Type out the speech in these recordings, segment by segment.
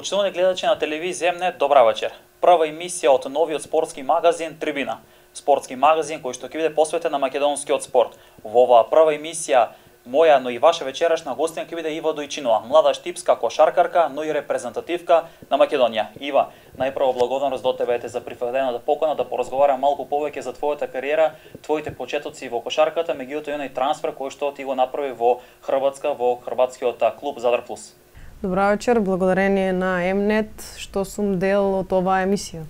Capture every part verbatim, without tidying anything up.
Почитувани гледачи на телевизија М Н, добра вечер. Прва емисија од новиот спортски магазин Трибина. Спортски магазин кој што ќе биде посветен на македонскиот спорт. Во оваа прва емисија моја, но и ваша вечерашна гостина ќе биде Ива Дојчинова, млада штипска кошаркарка, но и репрезентативка на Македонија. Ива, најпрво благодарност до тебе за прифатената покана да поразговарам малку повеќе за твојата кариера, твоите почетоци во кошарката, меѓутоа и оној трансфер кој што ти го направи во Хрватска, во хрватскиот клуб Задар Плюс. Добра вечер, благодарение на М Н што сум дел од оваа емисија.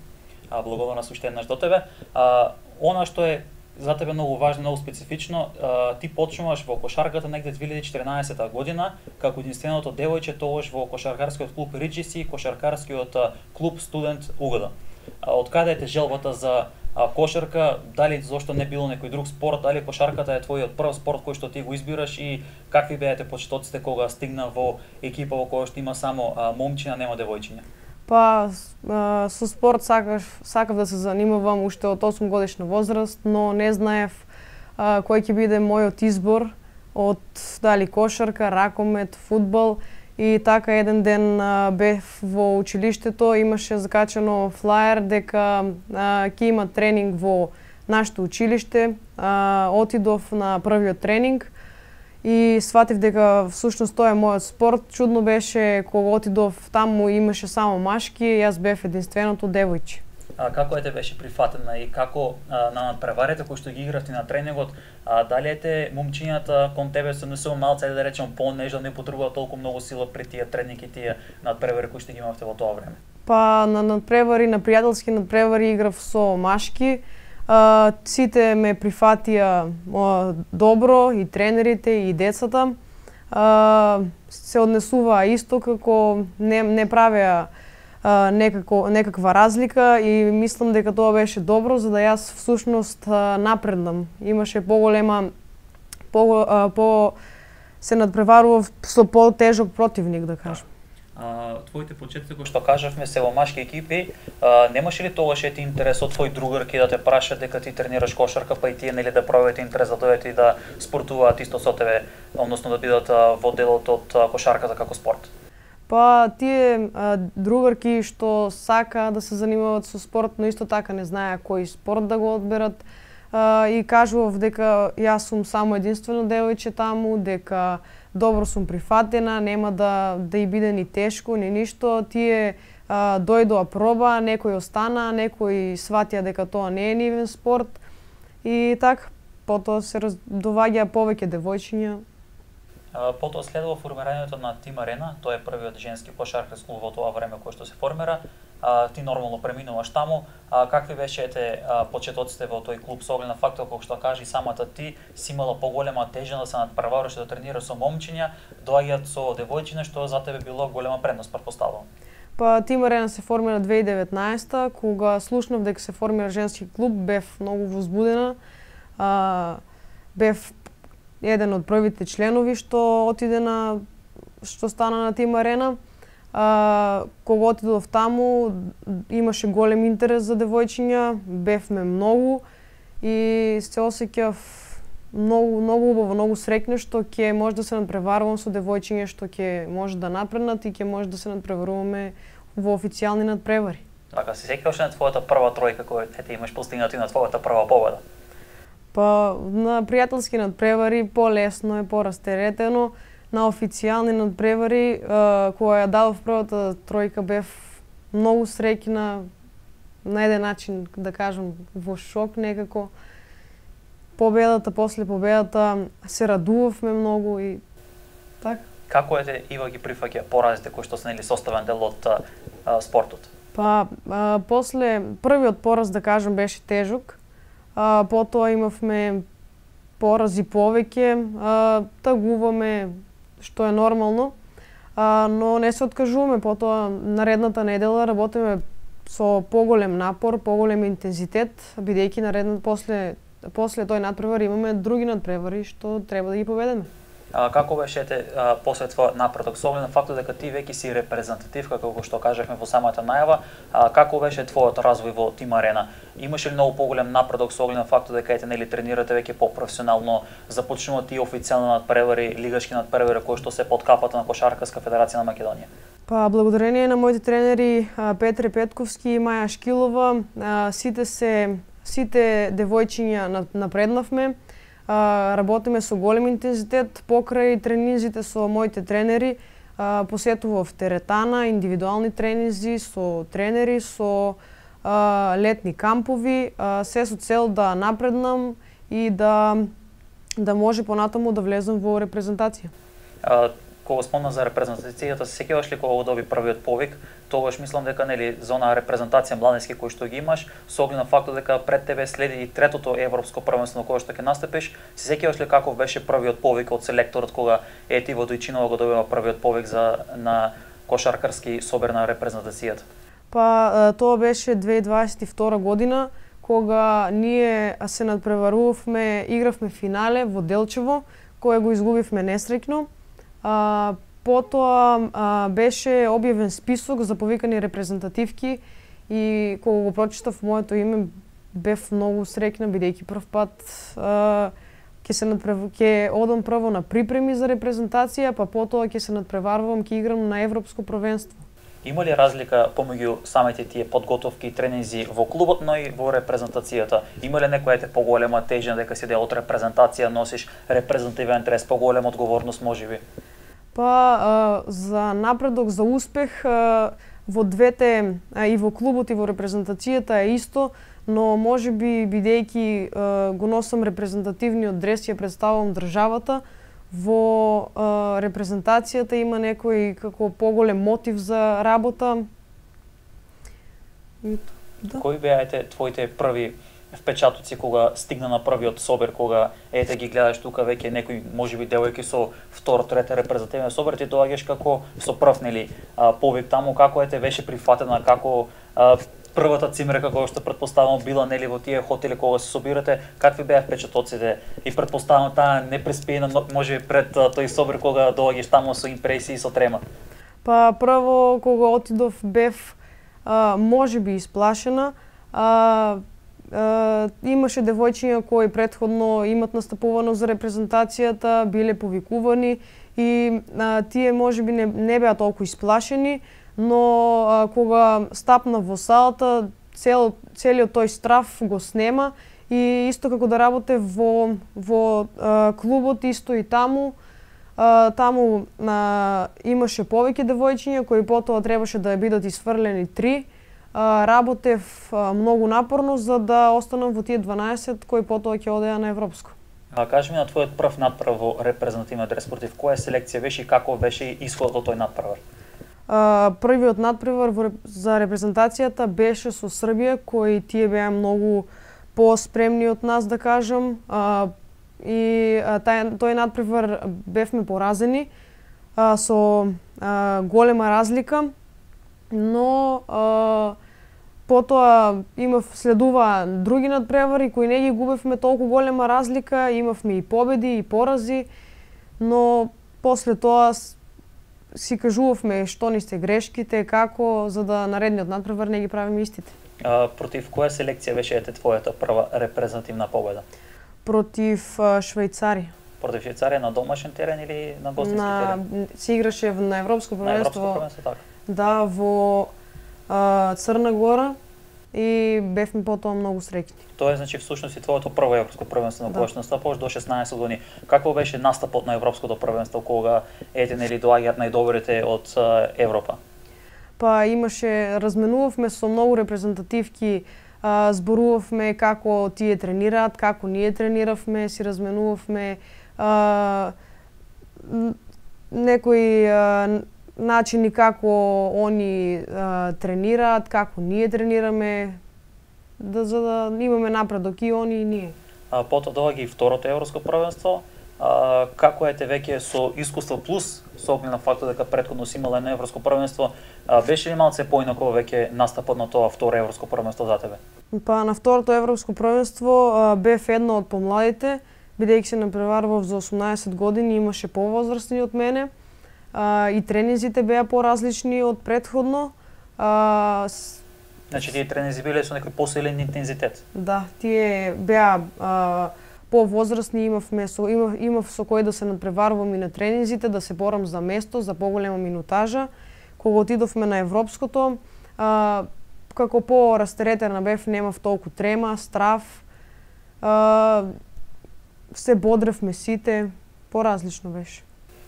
А, благодарност уште еднаш до тебе. А, она што е за тебе многу важно, многу специфично, а, ти почнуваш во кошарката негде две илјади и четирнаесета година, како единственото девојче тогаш во кошаркарскиот клуб Риджиси, кошаркарскиот клуб Студент Угода. Од каде е желбата за а, кошарка, дали зошто не било некој друг спорт, дали кошарката е твојот прв спорт кој што ти го избираш и какви беате почетоците кога стигна во екипа во која што има само а, момчиња, нема девојчиња? Па, а, со спорт сакав, сакав да се занимавам уште од осум годишна возраст, но не знаев а, кој ќе биде мојот избор од дали кошарка, ракомет, фудбал. И така еден ден а, бев во училиштето, имаше закачано флаер дека а, ќе има тренинг во нашето училиште. А, отидов на првиот тренинг и сватив дека всушност тоа е мојот спорт. Чудно беше кога отидов таму имаше само машки, јас бев единственото девојче. А, како ете беше прифатена и како а, на надпреварите кои што ги игравте на тренингот, а, дали ете момчињата кон тебе се однесува малце, да речем, понежно, не потребува толку многу сила при тие тренинги и тие надпревари кои што ги имавте во тоа време? Па на надпревари, на пријателски надпревари играв со машки. А, сите ме прифатија а, добро, и тренерите, и децата. А, се однесуваа исто, како не, не правеа а, некако, некаква разлика и мислам дека тоа беше добро, за да јас всушност а, напреднам. Имаше поголема, по, а, по се надпреварував со потежок противник, да кажам. А, твоите почетоци кои што кажавме се во машки екипи, а, немаше ли тогаш ети интерес од твои другарки да те праша дека ти тренираш кошарка, па и тие нели да проявите интерес да дојдете и да спортуваат исто со тебе, односно да бидат а, во делот од а, кошарката како спорт? Па тие а, другарки што сака да се занимаваат со спорт, но исто така не знаеа кој спорт да го одберат, а, и кажував дека јас сум само единствено девојче таму, дека добро сум прифатена, нема да да и биде ни тешко, ни ништо. Тие а, дојдоа проба, некои остана, некои сватија дека тоа не е нивен спорт. И така, потоа се раз... доваѓа повеќе девојчиња. А, потоа следува формирањето на Тим Арена, тоа е првиот женски кошаркарски клуб во тоа време кој што се формира. А, ти нормално преминуваш таму. А, какви бешете почетоците во тој клуб со оглед на фактот кој што кажи самата ти си имала поголема тежа да се надпреваруваш да тренираш со момчиња, доаѓаат со девојчиња што за тебе било голема предност, претпоставувам. Па Тим Арена се формира две илјади и деветнаесета, кога слушнав дека се формира женски клуб, бев многу возбудена. А, бев еден од првите членови што отиде на што стана на Тим Арена. А, кога отидов таму, имаше голем интерес за девојчиња, бевме многу и се осеќав многу, многу убаво, многу среќна што ќе може да се надпреварувам со девојчиња што ќе може да напреднат и ќе може да се надпреваруваме во официјални надпревари. Така, се сеќаваш на твојата прва тројка која ете имаш постигнато и на твојата прва победа? Па на пријателски надпревари полесно е, порастеретено. На официјални надпревари, кога ја дадов првата тројка, бев многу среќна, на еден начин, да кажам, во шок некако. Победата, после победата, се радувавме многу и така. Како ете Ива ги прифаќа поразите кои што се нели составен дел од а, спортот? Па, а, после првиот пораз, да кажам, беше тежок. А, потоа имавме порази повеќе, а, тагуваме, што е нормално, а, но не се откажуваме. Потоа наредната недела работиме со поголем напор, поголем интензитет, бидејќи наредната после после тој надпревар имаме други надпревари што треба да ги победиме. А, како беше ете после твојот напредок со оглед на фактот дека ти веќе си репрезентативка, како што кажавме во самата најава, а, како беше твојот развој во Тим Арена? Имаше ли многу поголем напредок со оглед на фактот дека ете нели тренирате веќе попрофесионално, започнуваат и официјални надпревари, лигашки надпревари кои што се под капата на Кошаркарска федерација на Македонија? Па благодарение на моите тренери Петре Петковски и Маја Шкилова, сите се сите девојчиња напреднавме. Работиме со голем интензитет, покрај тренинзите со моите тренери, посетував теретана, индивидуални тренинзи со тренери, со летни кампови, се со цел да напреднам и да да може понатаму да влезам во репрезентација. А, кога спомна за репрезентацијата, се сеќаваш ли кога го доби првиот повик? Тогаш мислам дека нели за онаа репрезентација младински кој што ги имаш, со оглед на фактот дека пред тебе следи и третото европско првенство на кое што ќе настапиш, се сеќаваш ли каков беше првиот повик од селекторот кога Ети Водојчинова го добива првиот повик за на кошаркарски собер на репрезентацијата? Па тоа беше две илјади дваесет и втора година, кога ние се надпреварувавме, игравме финале во Делчево, кое го изгубивме несреќно. А, потоа а, беше објавен список за повикани репрезентативки и кога го прочитав моето име, бев многу среќна, бидејќи прв пат а, ќе се надпрев... ќе одам прво на припреми за репрезентација, па потоа ќе се надпреварувам, ќе играм на европско првенство. Има ли разлика помеѓу самите тие подготовки и тренинзи во клубот, но и во репрезентацијата? Има ли некоја те поголема тежина дека си дел од репрезентација, носиш репрезентативен трес, поголема одговорност можеби? Па а, за напредок, за успех а, во двете, а, и во клубот и во репрезентацијата е исто, но можеби бидејќи го носам репрезентативниот дрес, ја представувам државата, во а, репрезентацијата има некој како поголем мотив за работа. Да. Кои беа твоите први впечатоци кога стигна на првиот собер, кога ете ги гледаш тука веќе некој можеби девојки со втор, трета репрезентативен собер, ти доаѓаш како со прв нели повик таму, како ете беше прифатена, како а, првата цимрека која што претпоставам била нели во тие хотели кога се собирате, какви беа впечатоците и претпоставам таа непреспиена можеби пред тој собер кога доаѓаш таму со импресии и со трема? Па прво кога отидов бев а, можеби исплашена. А, а, имаше девојчиња кои претходно имат настапувано за репрезентацијата, биле повикувани и а, тие можеби не, не беа толку исплашени, но а, кога стапна во салата, цел, целиот тој страф го снема и исто како да работе во, во а, клубот, исто и таму, а, таму а, имаше повеќе девојчиња кои потоа требаше да бидат исфрлени три. А, работев а, многу напорно за да останам во тие дванаесет кои потоа ќе одеа на европско. А кажи ми на твојот прв натпревар во репрезентативниот дрес, против која селекција беше и како беше исходот од тој натпревар? Uh, првиот надпревар во, за репрезентацијата беше со Србија, кои тие беа многу поспремни од нас, да кажам. Uh, и uh, тај, тој надпревар бевме поразени uh, со uh, голема разлика, но uh, потоа имав следува други надпревари кои не ги губевме толку голема разлика, имавме и победи и порази, но после тоа си кажувавме што ни се грешките, како, за да наредниот надпревар не ги правиме истите. А, против која селекција беше ете твојата прва репрезентативна победа? Против а, Швајцарија. Против Швајцарија на домашен терен или на гостински на... терен? Се играше на европско првенство. На европско првенство, така. Да, во а, Црна Гора и бевме потоа многу среќни. Тоа е значи всушност и твоето прво европско првенство на кое што настапуваш до шеснаесет години. Какво беше настапот на европското првенство кога ете нели доаѓаат најдобрите од Европа? Па имаше, разменувавме со многу репрезентативки, а, зборувавме како тие тренираат, како ние трениравме, си разменувавме а, некои а, начини како они а, тренираат, како ние тренираме, да, за да имаме напредок и они и ние. А, потоа доаѓа и второто европско првенство. А, како ете веќе со искуство плюс, со оглед на фактот дека претходно си имала едно европско првенство, а, беше ли малце поинако веќе настапот на тоа второ европско првенство за тебе? Па на второто европско првенство а, бев едно од помладите, бидејќи се напреварував за осумнаесет години, имаше повозрастни од мене. Uh, и тренинзите беа поразлични од претходно. Uh, с... Значи тие тренинзи биле со некој посилен интензитет? Да, тие беа uh, повозрастни, имавме со имав, имав со кој да се надпреварувам и на тренинзите, да се борам за место, за поголема минутажа, кога отидовме на европското, а, како по-растеретена бев, немав толку трема, страв, а, се бодревме сите, поразлично беше.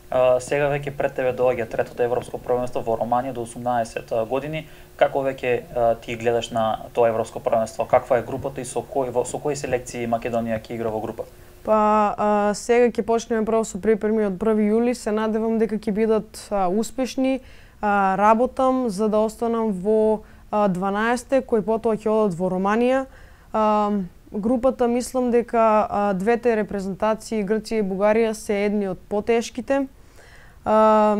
А, сега веќе пред тебе доаѓа третото европско првенство во Романија до осумнаесет години. Како веќе а, ти гледаш на тоа европско првенство? Каква е групата и со кои со кои селекции Македонија ќе игра во група? Па а, сега ќе почнеме прво со припреми од први јули, се надевам дека ќе бидат а, успешни. А, работам за да останам во а, дванаесетте кои потоа ќе одат во Романија. А, групата мислам дека а, двете репрезентации Грција и Бугарија се едни од потешките. А,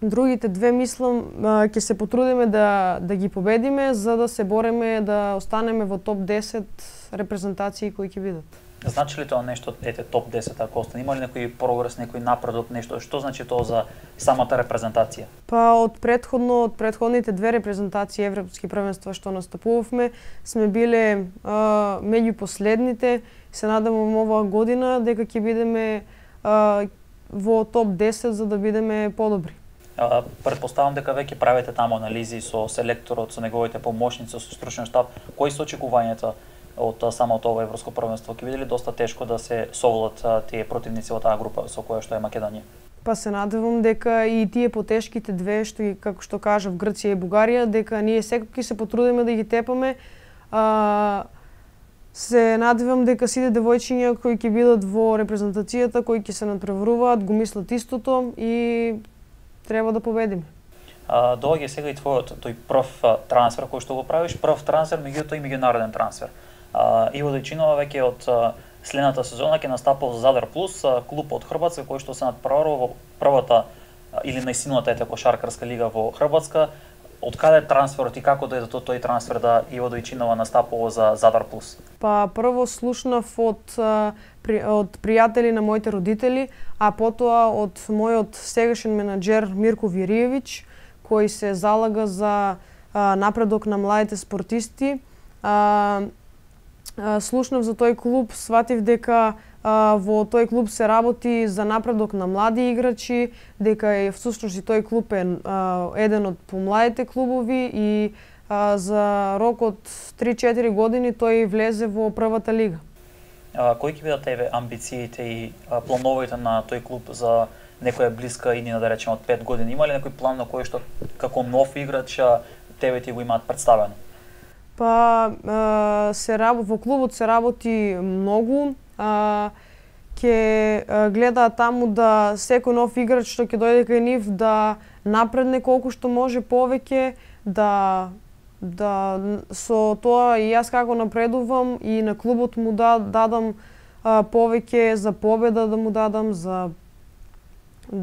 другите две мислам а, ќе се потрудиме да да ги победиме за да се бореме да останеме во топ десет репрезентации кои ќе бидат. Значи ли тоа нешто, ете, топ десет, ако остане? Има ли некој прогрес, некој напредок, нешто? Што значи тоа за самата репрезентација? Па од претходно, од претходните две репрезентации европски првенства што настапувавме, сме биле а, меѓу последните. Се надевам оваа година дека ќе бидеме а, во топ десет за да бидеме подобри. А, предпоставам дека веќе правите таму анализи со селекторот, со неговите помошници, со стручен штаб. Кои се очекувањата од самото ова европско првенство? Ќе биде ли доста тешко да се совладат тие противници во таа група со која што е Македонија? Па се надевам дека и тие потешките две што ги, како што кажав, Грција и Бугарија, дека ние секој ќе се потрудиме да ги тепаме. А, се надевам дека сите девојчиња кои ќе бидат во репрезентацијата, кои ќе се надпреваруваат, го мислат истото и треба да победиме. А, доаѓа сега и твојот тој прв трансфер кој што го правиш, прв трансфер, меѓутоа и меѓународен трансфер. Uh, Иво Дојчинова веќе од uh, следната сезона ќе настапува за Задар Плюс, uh, клуб од Хрватска кој што се надпреварува во првата uh, или најсилната ете кошаркарска лига во Хрватска. Од каде е трансферот и како дојде до тој трансфер да Иво Дојчинова настапува за Задар Плюс? Па прво слушнав од uh, при, од пријатели на моите родители, а потоа од мојот сегашен менаџер Мирко Вириевиќ, кој се залага за uh, напредок на младите спортисти. Uh, Слушнав за тој клуб, сватив дека а, во тој клуб се работи за напредок на млади играчи, дека е всушност и тој клуб е а, еден од помладите клубови и а, за рок од три-четири години тој влезе во првата лига. А, кои ќе бидат тебе амбициите и а, плановите на тој клуб за некоја блиска иднина, да речеме, од пет години? Има ли некој план на кој што како нов играч тебе ти го имаат представено? Па се работи во клубот се работи многу. А, ќе гледаат таму да секој нов играч што ќе дојде кај нив да напредне колку што може повеќе, да да со тоа и јас како напредувам и на клубот му да дадам а, повеќе за победа, да му дадам за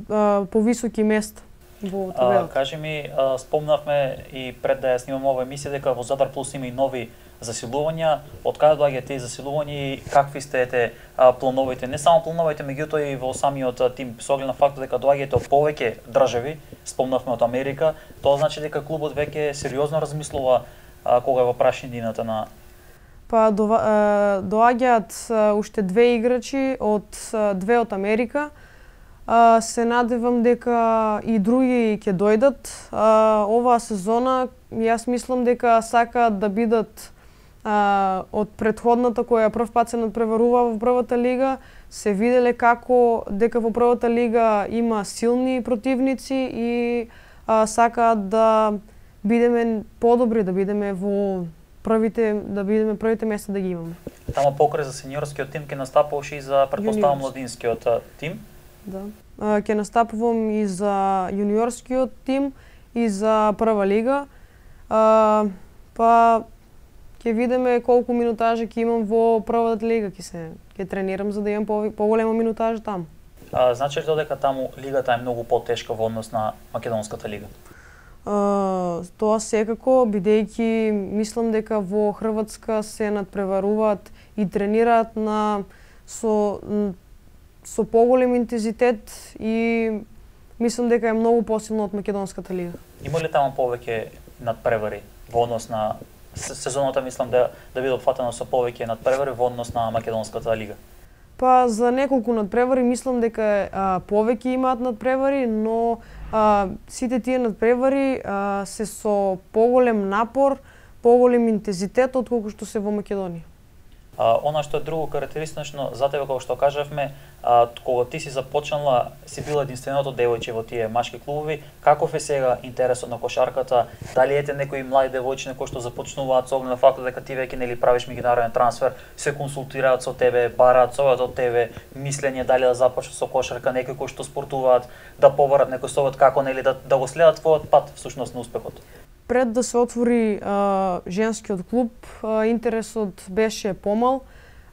а, повисоки места во табелата. Кажи ми, а, спомнавме и пред да ја снимам ова емисија дека во Задар Плюс има и нови засилувања. Од каде доаѓаат тие засилувања и какви сте ете а, плановите? Не само плановите, меѓутоа и во самиот тим, со оглед на фактот дека доаѓаат од повеќе држави, спомнавме од Америка, тоа значи дека клубот веќе сериозно размислува а, кога е во прашањината на Па доаѓаат уште две играчи од две од Америка. Uh, се надевам дека и други ќе дојдат. Uh, оваа сезона јас мислам дека сакаат да бидат uh, од претходната која прв пат се надпреварува во првата лига, се виделе како дека во првата лига има силни противници и uh, сакаат да бидеме подобри, да бидеме во првите, да бидеме првите места да ги имаме. Тама покрај за сениорскиот тим ќе настапуваш и за предпоставам младинскиот тим. Да. Ќе настапувам и за јуниорскиот тим и за прва лига. А, па ќе видиме колку минутажи ќе имам во првата лига, ќе се ќе тренирам за да имам по, поголема минутажа таму. А, значи ли дека таму лигата е многу потешка во однос на македонската лига? А, тоа секако, бидејќи мислам дека во Хрватска се надпреваруваат и тренираат на со со поголем интензитет и мислам дека е многу посилно од македонската лига. Има ли таму повеќе надпревари во однос на сезоната, мислам да да биде опфатено со повеќе надпревари во однос на македонската лига? Па за неколку надпревари мислам дека а, повеќе имаат надпревари, но а, сите тие надпревари а, се со поголем напор, поголем интензитет отколку што се во Македонија. А, она што е друго карактеристично за тебе, како што кажавме, а, кога ти си започнала, си била единственото девојче во тие машки клубови, каков е сега интересот на кошарката? Дали ете некои млади девојчиња кои што започнуваат со оглед на фактот дека ти веќе нели правиш меѓународен трансфер, се консултираат со тебе, бараат совет од тебе, мислење дали да започнат со кошарка, некои кои што спортуваат, да побарат некој совет како нели да, да го следат твојот пат всушност на успехот? Пред да се отвори а, женскиот клуб, а, интересот беше помал.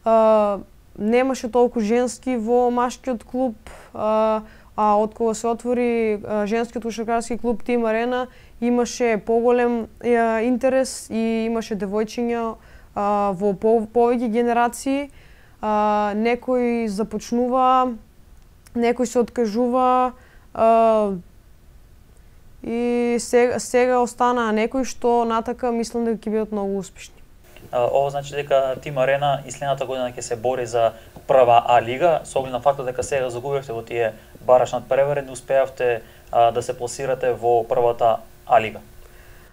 А, немаше толку женски во машкиот клуб, а, а од кога се отвори а, женскиот кошаркарски клуб Тим Арена, имаше поголем а, интерес и имаше девојчиња а, во по, повеќе генерации. А, некој започнува, некој се откажува, а, и сега, сега останаа некои што натака мислам дека ќе бидат многу успешни. Ова значи дека Тим Арена и следната година ќе се бори за прва А лига, со оглед на фактот дека сега загубивте во тие бараш надпревари, не успеавте а, да се пласирате во првата А лига.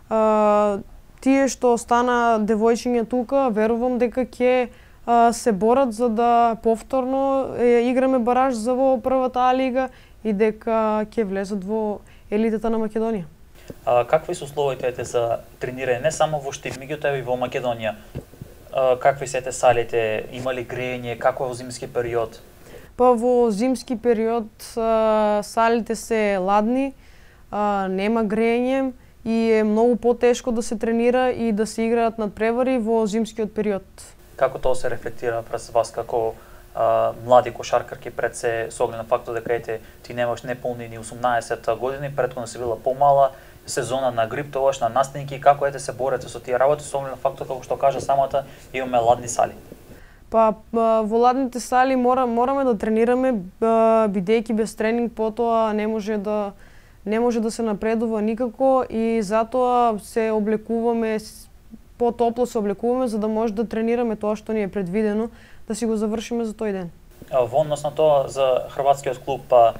А, тие што остана девојчиња тука, верувам дека ќе а, се борат за да повторно е, играме бараш за во првата А лига и дека ќе влезат во елитата на Македонија. А, какви се условите за тренирање не само во Штип, меѓутоа и во Македонија? А, какви се те салите, има ли грејење, како е во зимски период? Па во зимски период а, салите се ладни, а, нема грејење и е многу потешко да се тренира и да се играат надпревари во зимскиот период. Како тоа се рефлектира пред вас како Uh, млади кошаркарки пред се со оглед на фактот дека ете ти немаш неполни ни осумнаесет години, претходно си била помала, сезона на грип, тогаш на настинки, како ете се борете со тие работи со оглед на фактот како што кажа самата имаме ладни сали? Па во ладните сали мора, мораме да тренираме, бидејќи без тренинг потоа не може да не може да се напредува никако и затоа се облекуваме потопло се облекуваме за да може да тренираме тоа што ни е предвидено, да си го завршиме за тој ден. Во однос на тоа за хрватскиот клуб, па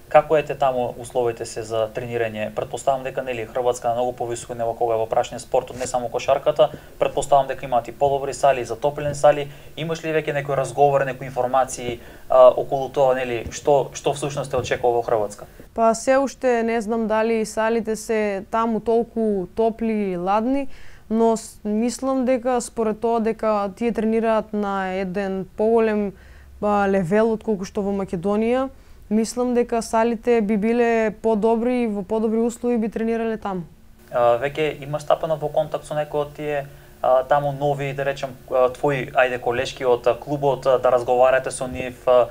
како ете таму условите се за тренирање? Претпоставам дека нели Хрватска на многу повисоко ниво кога е во прашниот спортот, не само кошарката, претпоставам дека имаат и подобри сали, затоплени сали. Имаш ли веќе некој разговор, некои информации а, околу тоа, нели, што што всушност те очекува во Хрватска? Па се уште не знам дали салите се таму толку топли и ладни, но мислам дека според тоа дека тие тренираат на еден поголем ба, левел отколку што во Македонија, мислам дека салите би биле подобри и во подобри услови би тренирале таму. А, веќе имаш стапено во контакт со некои од тие а, таму нови, да речем, твои ајде колешки од клубот, да разговарате со нив, а,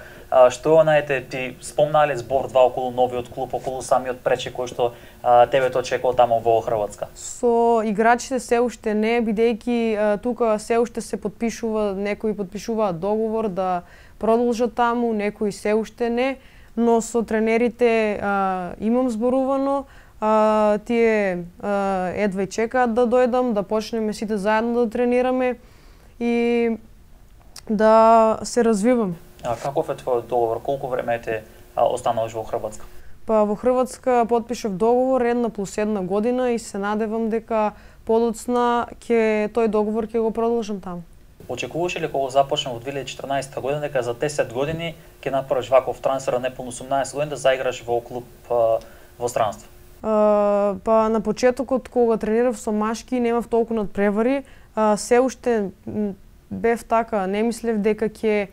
што онаете ти спомнале збор два околу новиот клуб, околу самиот пречи кој што а, тебе те очекува таму во Хрватска? Со играчите се уште не, бидејќи тука се уште се подпишува, некои подпишуваат договор да продолжат таму, некои се уште не, но со тренерите а, имам зборувано, а, тие а, едва и чекаат да дојдам, да почнеме сите заедно да тренираме и да се развиваме. А каков е твојот договор? Колку време те остануваш во Хрватска? Па во Хрватска потпишав договор една плюс една година и се надевам дека подоцна ќе тој договор ќе го продолжам таму. Очекуваше ли кога започна во две илјади и четрнаесета година дека за десет години ќе направиш ваков трансфер на неполно осумнаесет години да заиграш во клуб а, во странство? А, па на почетокот кога тренирав со машки немав толку надпревари, а, се уште бев така, не мислев дека ќе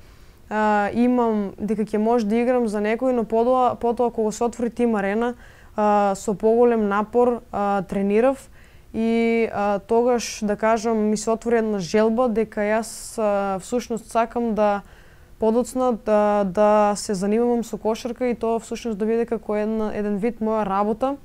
а, имам дека ќе може да играм за некој, но потоа потоа кога се отвори Тим Арена а, со поголем напор а, тренирав и а, тогаш да кажам ми се отвори една желба дека јас а, всушност сакам да подоцна да, да се занимавам со кошарка и тоа всушност да биде како една, еден вид моја работа.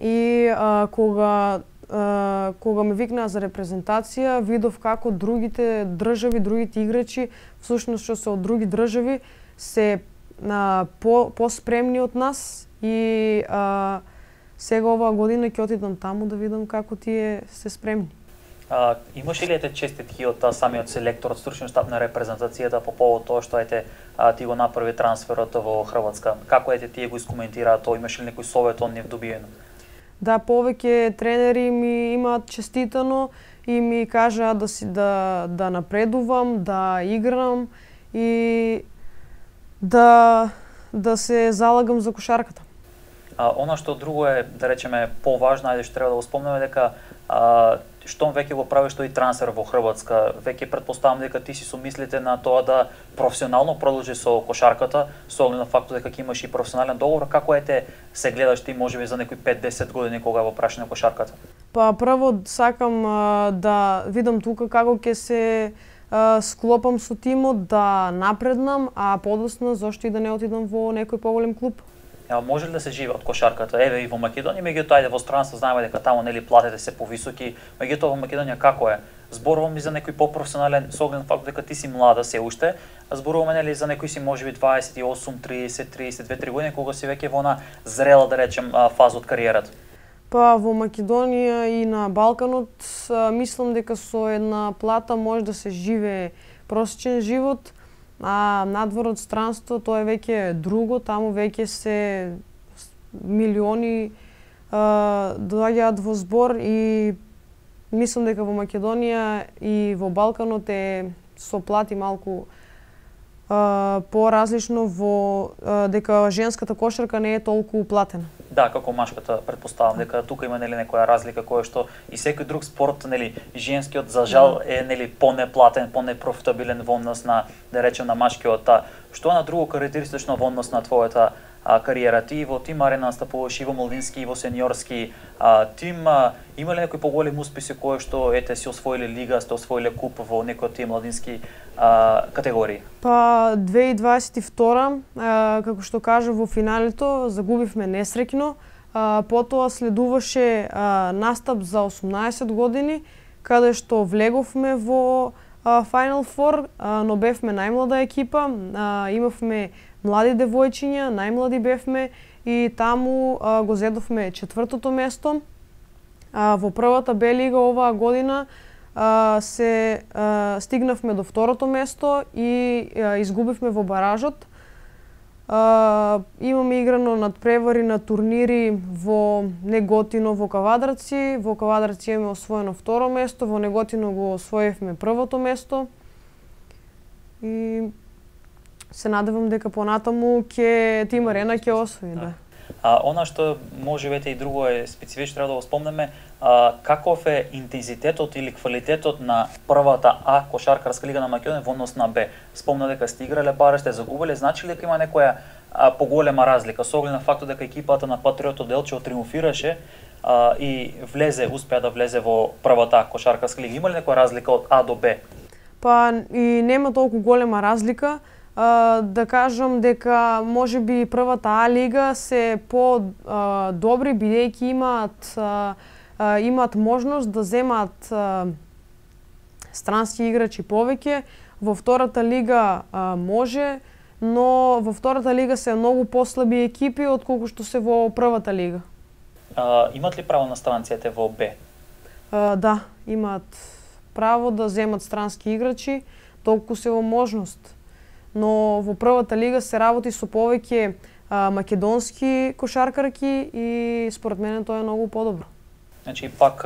И а, кога а, кога ме викнаа за репрезентација, видов како другите држави, другите играчи, всушност што се од други држави, се а, по поспремни од нас и а, сега оваа година ќе отидам таму да видам како тие се спремни. А, имаш ли ете честитки од самиот селектор, од стручниот штаб на репрезентацијата по повод тоа што ете а, ти го направи трансферот во Хрватска? Како ете тие го искоментираа тоа? Имаш ли некој совет од нив добиено? Да, повеќе тренери ми имаат честитано и ми кажаа да си да да напредувам, да играм и да да се залагам за кошарката. А, она што друго е, да речеме, поважно, ајде што треба да го спомнеме, дека а, штом веќе го правиш тој трансфер во Хрватска, веќе претпоставам дека ти си со мислите на тоа да професионално продолжиш со кошарката, со оглед на фактот дека ќе имаш и професионален договор. Како ете се гледаш ти можеби за некои пет-десет години кога во прашање кошарката? Па прво сакам а, да видам тука како ќе се а, склопам со тимот, да напреднам, а подоцна зошто и да не отидам во некој поголем клуб. Ја, може ли да се живее од кошарката? Еве и во Македонија, меѓутоа ајде во странство знаеме дека таму нели платите се повисоки, меѓутоа во Македонија како е? Зборувам и за некој попрофесионален, со оглед на фактот дека ти си млада се уште, зборуваме нели за некој си можеби дваесет и осум, триесет, триесет и две, три години кога си веќе во на зрела, да речем, фаза од кариерата. Па во Македонија и на Балканот мислам дека со една плата може да се живее просечен живот, а надвор од странство тоа е веќе друго, таму веќе се милиони а, доаѓаат во збор и мислам дека во Македонија и во Балканот е со плати малку а, поразлично во а, дека женската кошарка не е толку платена. Да, како машката, претпоставам дека тука има нели некоја разлика која што и секој друг спорт, нели, женскиот за жал е нели понеплатен, понепрофитабилен во однос на, да речем, на машкиот. Што е на друго карактеристично во однос на твојата а, кариера? Ти во Тим Арена настапуваш и во младински и во сениорски а, тим. А, има ли некои поголеми успеси кои што ете си освоиле лига, сте освоиле куп во некои од тие младински а, категории? Па две илјади дваесет и втора, а, како што кажа во финалето, загубивме несреќно. А, потоа следуваше а, настап за осумнаесет години, каде што влеговме во а, Final Four, а, но бевме најмлада екипа, а, имавме млади девојчиња, најмлади бевме и таму а, го зедовме четвртото место. А, во првата Б лига оваа година а, се а, стигнавме до второто место и а, изгубивме во баражот. А, имаме играно надпревари на турнири во Неготино, во Кавадарци. Во Кавадарци имаме освоено второ место, во Неготино го освоивме првото место. И се надевам дека понатаму ќе Тим Арена ќе освои, да. А, она што може вете и друго е специфично треба да го спомнеме, а, каков е интензитетот или квалитетот на првата А кошаркарска лига на Македонија во однос на Б. Спомна дека сте играле баре, сте загубиле, значи ли дека има некоја а, поголема разлика со оглед на фактот дека екипата на Патриотот Делчево триумфираше а, и влезе, успеа да влезе во првата А кошаркарска лига. Има ли некоја разлика од А до Б? Па и нема толку голема разлика. Uh, да кажам дека можеби првата А лига се по uh, добри бидејќи имаат uh, uh, имаат можност да земаат uh, странски играчи повеќе. Во втората лига uh, може, но во втората лига се многу послаби екипи отколку што се во првата лига. Uh, имат ли право на странците во Б? Uh, да, имаат право да земат странски играчи, толку се во можност. Но во првата лига се работи со повеќе а, македонски кошаркарки и според мене тоа е многу подобро. Значи пак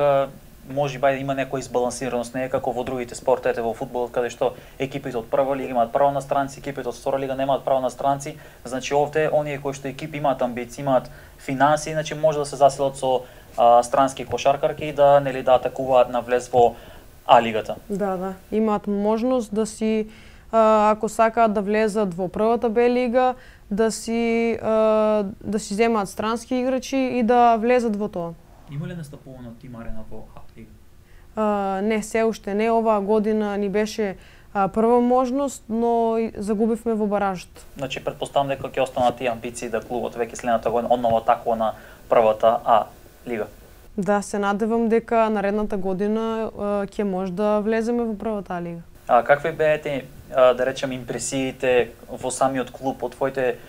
може би има некоја избалансираност, не е како во другите спортове, во фудбалот каде што екипите од прва лига имаат право на странци, екипите од втора лига немаат право на странци. Значи овде оние кои што екипи имаат амбиции, имаат финанси, значи може да се заселат со а, странски кошаркарки и да нели да атакуваат на влез во А лигата. Да, да, имаат можност да си ако сакаат да влезат во првата Б лига, да си да си земаат странски играчи и да влезат во тоа. Има ли настапувано Тим Арена во А лига? Uh, не, се уште не. Оваа година ни беше uh, прва можност, но загубивме во баражот. Значи претпоставам дека ќе останат тие амбиции да клубот веќе следната година одново атакува на првата А лига. Да, се надевам дека наредната година uh, ќе може да влеземе во првата А лига. А какви беете, да речем, импресиите во самиот клуб од твоите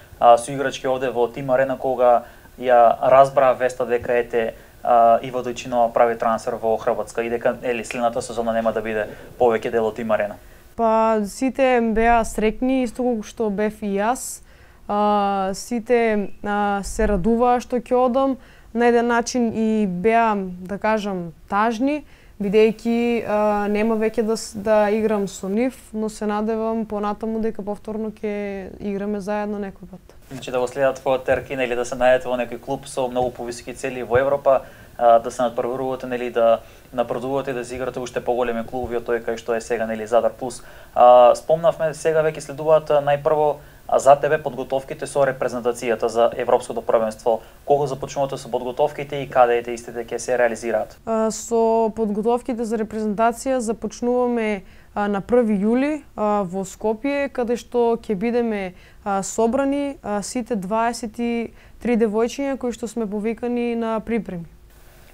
соиграчки овде во Тим Арена кога ја разбраа веста дека ете а, Иво Дојчинова прави трансфер во Хрватска и дека ели следната сезона нема да биде повеќе дел од Тим Арена? Па сите беа среќни, исто колку што бев и јас. А, сите а, се радуваа што ќе одам, на еден начин и беа, да кажам, тажни, бидејќи а, нема веќе да, да играм со нив, но се надевам понатаму дека повторно ќе играме заедно некој пат. Значи да го следат твојот теркин или да се најдете во некој клуб со многу повисоки цели во Европа, а, да се надпреварувате, нели, да напредувате, да си играте уште поголеми клубови од тој кај што е сега, нели, Задар Плюс. А, спомнавме, сега веќе следуваат најпрво а за тебе подготовките со репрезентацијата за Европското првенство. Кога започнувате со подготовките и каде ете истите ќе се реализираат? А, со подготовките за репрезентација започнуваме а, на први јули а, во Скопје, каде што ќе бидеме а, собрани а, сите дваесет и три девојчиња кои што сме повикани на припреми.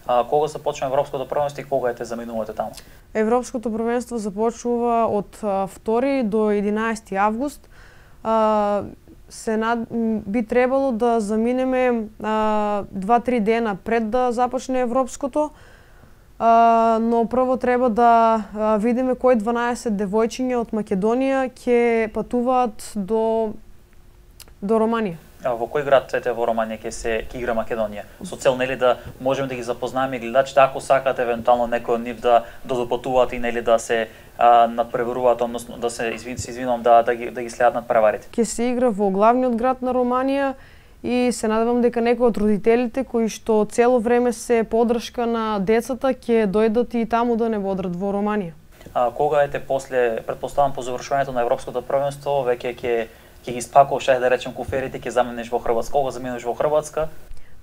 А, кога започва Европското првенство и кога ете заминувате таму? Европското првенство започнува од а, втори до единаесети август. Uh, се над... би требало да заминеме два-три uh, дена пред да започне Европското, uh, но прво треба да uh, видиме кои дванаесет девојчиња од Македонија ќе патуваат до до Романија. А во кој град ете во Романија ќе се ќе игра Македонија? Со цел, нели, да можеме да ги запознаеме гледачите, ако сакаат евентуално некој од нив да да допатуваат и, нели, да се а, надпреваруваат, односно да се извин се извинувам да да ги да ги следат надпреварите. Ќе се игра во главниот град на Романија и се надевам дека некои од родителите кои што цело време се поддршка на децата ќе дојдат и таму да не бодрат во Романија. А кога ете после, претпоставам по завршувањето на Европското првенство, веќе ќе ќе ги спакуваш, да речем, куферите, ќе заминеш во Хрватска. Кога заминеш во Хрватска?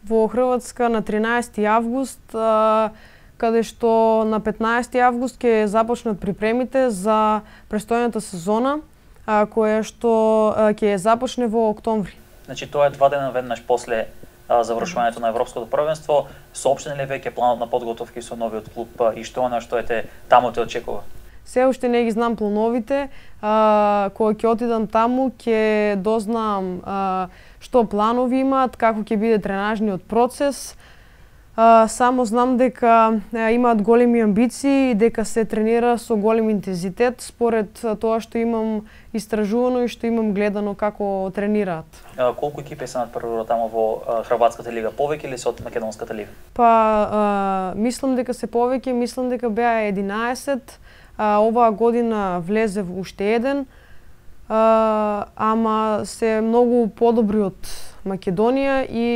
Во Хрватска на тринаесети август, а, каде што на петнаесети август ќе започнат припремите за престојната сезона, а, која што а, ќе започне во октомври. Значи тоа е два дена веднаш после а, завршувањето на Европското првенство. Соопштен ли веќе планот на подготовки со новиот клуб и што она што ете таму те очекува? Се уште не ги знам плановите, а, кога ќе отидам таму ќе дознам а, што планови имаат, како ќе биде тренажниот процес. А, само знам дека а, имаат големи амбиции и дека се тренира со голем интензитет според тоа што имам истражувано и што имам гледано како тренираат. А, колку екипи се надпреваруваат таму во а, Хрватската лига? Повеќе или се од Македонската лига? Па, а, мислам дека се повеќе, мислам дека беа единаесет. А, оваа година влезе уште еден, а, ама се многу подобри од Македонија и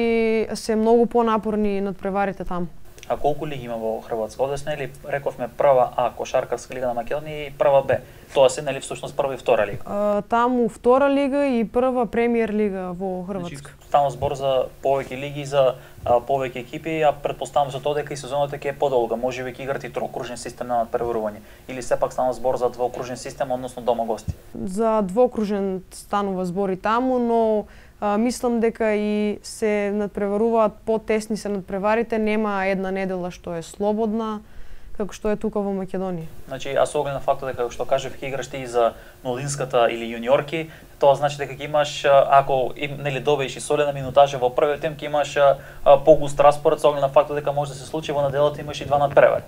се многу понапорни надпреварите таму. А колку лиги има во Хрватска? Одесна, нели, рековме прва А кошаркарска лига на Македонија и прва Б. Тоа се, нели, всушност прва и втора лига? А, таму втора лига и прва премиер лига во Хрватска. Значи, станува збор за повеќе лиги, за а, повеќе екипи, а претпоставам за тоа дека и сезоната ќе е подолга. Можеби ќе играте и троокружен систем на надпреварување. Или сепак станува збор за двоокружен систем, односно дома гости? За двоокружен станува збор и таму, но а, мислам дека и се надпреваруваат потесни се надпреварите, нема една недела што е слободна, како што е тука во Македонија. Значи, а со оглед на фактот дека, што кажав, ќе играш ти и за младинската или јуниорки, тоа значи дека ќе имаш, ако им, нели, добиеш и солена минутажа во првиот тим, ќе имаш а, погуст распоред со оглед на фактот дека може да се случи во неделата имаш и два надпревари.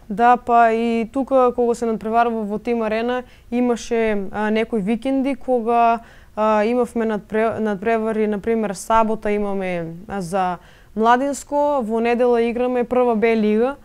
Да, па и тука кога се надпреварува во Тим Арена имаше а, некои викенди кога а, имавме надпре, надпревари, например сабота имаме а, за младинско, во недела играме прва Б лига,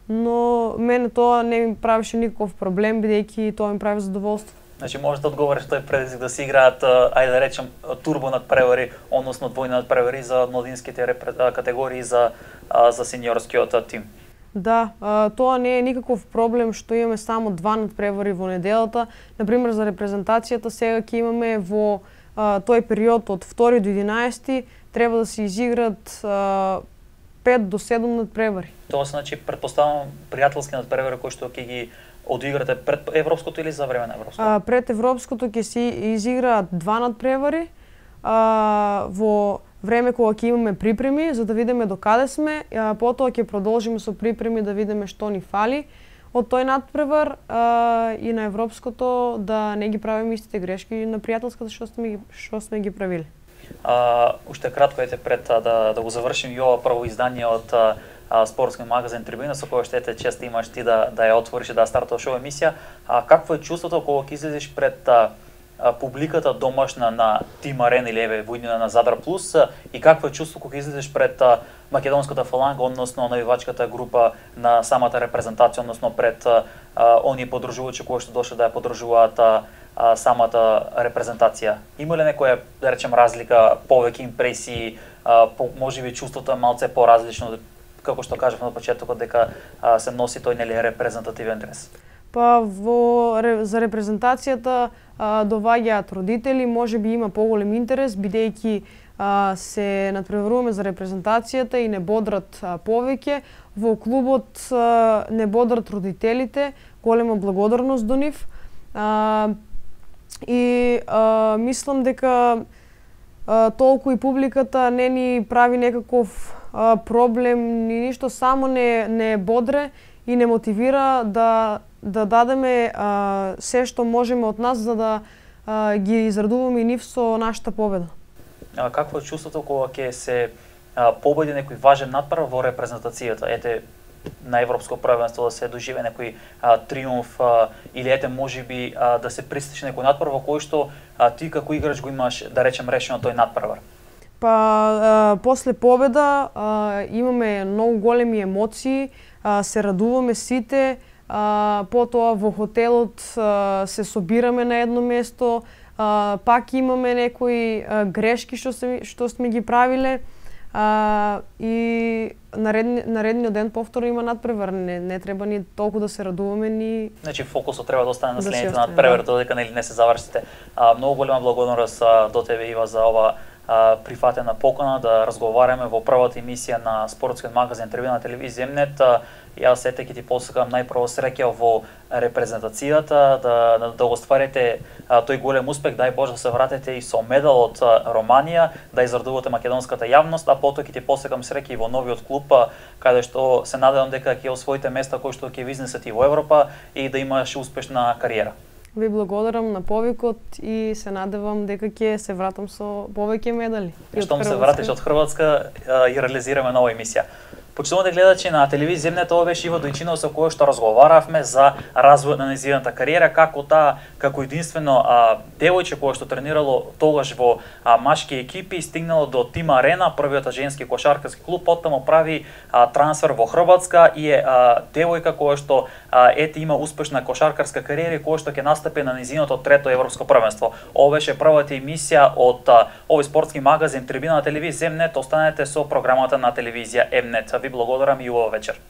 но мене тоа не ми правеше никаков проблем, бидејќи тоа ми прави задоволство. Значи може да одговориш тој предизвик да се играат, ајде да речем, турбо надпревари, односно двојни надпревари за младинските категории за за сениорскиот тим. Да, тоа не е никаков проблем што имаме само два надпревари во неделата. Например, за репрезентацијата сега ќе имаме во тој период од втори до единаесети треба да се изиграт пет до седум надпревари. Тоа се, значи, претпоставам пријателски надпревари кои што ќе ги одиграте пред Европското или за време на Европското? А, пред Европското ќе се изиграат два надпревари а, во време кога ќе имаме припреми за да видиме до каде сме, а, потоа ќе продолжиме со припреми да видиме што ни фали од тој надпревар а, и на Европското да не ги правиме истите грешки на пријателската што сме што сме ги правиле. А, уште кратко ете пред а, да да го завршим и ова прво издание од а, а, спортски магазин Трибина, со која што ете чест имаш ти да да ја отвориш и да стартуваш оваа емисија. А какво е чувството кога ќе излезеш пред а, а, публиката домашна на Тим Арена или еве војнина на Задар Плюс и какво е чувството кога излезеш пред а, македонската фаланга, односно навивачката група на самата репрезентација, односно пред а, оние подружувачи кои што дошле да ја подружуваат а, а, самата репрезентација. Има ли некоја, да речем, разлика, повеќе импресии, а, по, можеби чувството е малце поразлично, како што кажав на почетокот дека а, се носи тој нели репрезентативен дрес? Па во за репрезентацијата а, доваѓаат родители, можеби има поголем интерес бидејќи а, се надпреваруваме за репрезентацијата и не бодрат а, повеќе. Во клубот а, не бодрат родителите, голема благодарност до нив. А, и а, мислам дека а, толку и публиката не ни прави некаков а, проблем ни ништо, само не не бодре и не мотивира да да дадеме а, се што можеме од нас за да а, ги израдуваме и нив со нашата победа. А какво е чувството кога ќе се а, победи некој важен надпревар во репрезентацијата? Ете, на европско првенство да се доживе некој а, триумф а, или ете можеби а, да се пристигне некој надпревар во кој што а, ти како играч го имаш, да речем, решено тој надпревар? Па а, после победа а, имаме многу големи емоции, а, се радуваме сите, а, потоа во хотелот а, се собираме на едно место, а, пак имаме некои а, грешки што се што сме ги правиле. А, и наредни, наредниот ден повторно има надпревар, не, не треба ни толку да се радуваме ни. Значи фокусот треба да остане на да следните надпревари, да. Додека нели не се завршите. А, многу голема благодарност до тебе, Ива, за ова а, прифатена покана да разговараме во првата емисија на спортскиот магазин Трибина на телевизија Емнет. Јас сете ќе ти посакам најпрво среќа во репрезентацијата, да, да, да го стварите а, тој голем успех, дај Боже да се вратите и со медал од а, Романија, да израдувате македонската јавност, а потоа ќе ти посакам среќа и во новиот клуб, а, каде што се надевам дека ќе освоите места кои што ќе ви изнесат и во Европа и да имаш успешна кариера. Ви благодарам на повикот и се надевам дека ќе се вратам со повеќе медали. Штом се вратиш од Хрватска и реализираме нова емисија. Почитувате гледачи на телевизија Емнет, ова беше Иво Дојчинов со кој што разговаравме за развојот на нејзината кариера, како таа како единствено а, девојче кое што тренирало тогаш во а, машки екипи стигнало до Тим Арена, првиот женски кошаркарски клуб, потоа прави а, трансфер во Хрватска и е а, девојка која што а, ете има успешна кошаркарска кариера и која што ќе настапи на нејзиното трето европско првенство. Ова беше првата емисија од а, овој спортски магазин Трибина на телевизија Емнет. Останете со програмата на телевизија Емнет. Ви благодарам и убава вечер.